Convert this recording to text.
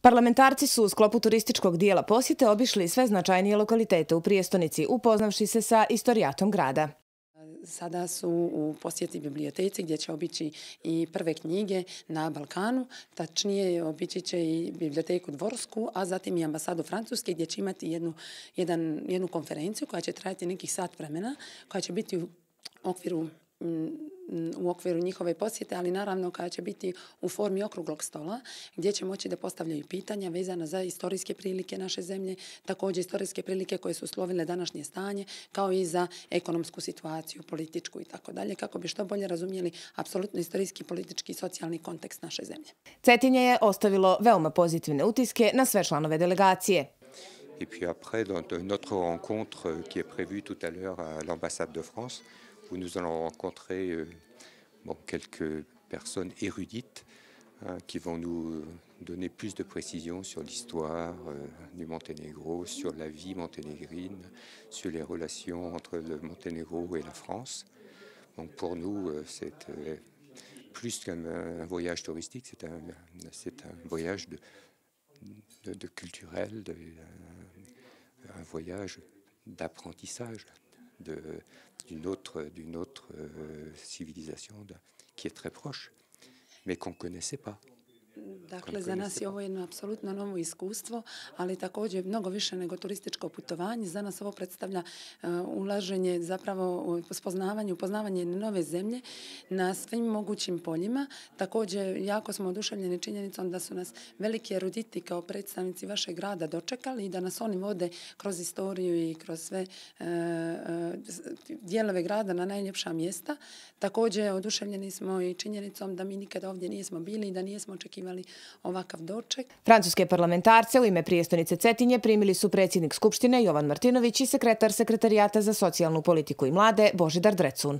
Parlamentarci su u sklopu turističkog dijela posjete obišli sve značajnije lokalitete u prijestonici, upoznavši se sa istorijatom grada. Sada su u posjeti biblioteci gdje će obići i prve knjige na Balkanu, tačnije obići će i biblioteku Dvorsku, a zatim i ambasadu Francuske gdje će imati jednu konferenciju koja će trajati nekih sat vremena, koja će biti u okviru njihove posjete, ali naravno koja će biti u formi okruglog stola, gdje će moći da postavljaju pitanja vezana za istorijske prilike naše zemlje, također istorijske prilike koje su uslovile današnje stanje, kao i za ekonomsku situaciju, političku i tako dalje, kako bi što bolje razumjeli apsolutno istorijski, politički i socijalni kontekst naše zemlje. Cetinje je ostavilo veoma pozitivne utiske na sve članove delegacije. Et puis après, dans notre rencontre qui est prévue tout à l'heure à l'ambassade de France, où nous allons rencontrer quelques personnes érudites qui vont nous donner plus de précisions sur l'histoire du Monténégro, sur la vie monténégrine, sur les relations entre le Monténégro et la France. Donc pour nous, c'est plus qu'un voyage touristique, c'est un voyage de culturel, un voyage d'apprentissage d'une autre civilisation qui est très proche, mais qu'on ne connaissait pas. Dakle, za nas je ovo jedno apsolutno novo iskustvo, ali također mnogo više nego turističko putovanje. Za nas ovo predstavlja ulaženje zapravo u upoznavanje nove zemlje na svim mogućim poljima. Također, jako smo oduševljeni činjenicom da su nas veliki eruditi kao predstavnici vašeg grada dočekali i da nas oni vode kroz istoriju i kroz sve dijelove grada na najljepša mjesta. Također, oduševljeni smo i činjenicom da mi nikada ovdje nismo bili i da nismo očekivali ovakav doček. Francuske parlamentarce u ime prijestonice Cetinje primili su predsjednik Skupštine Jovan Martinović i sekretar Sekretarijata za socijalnu politiku i mlade Božidar Drecun.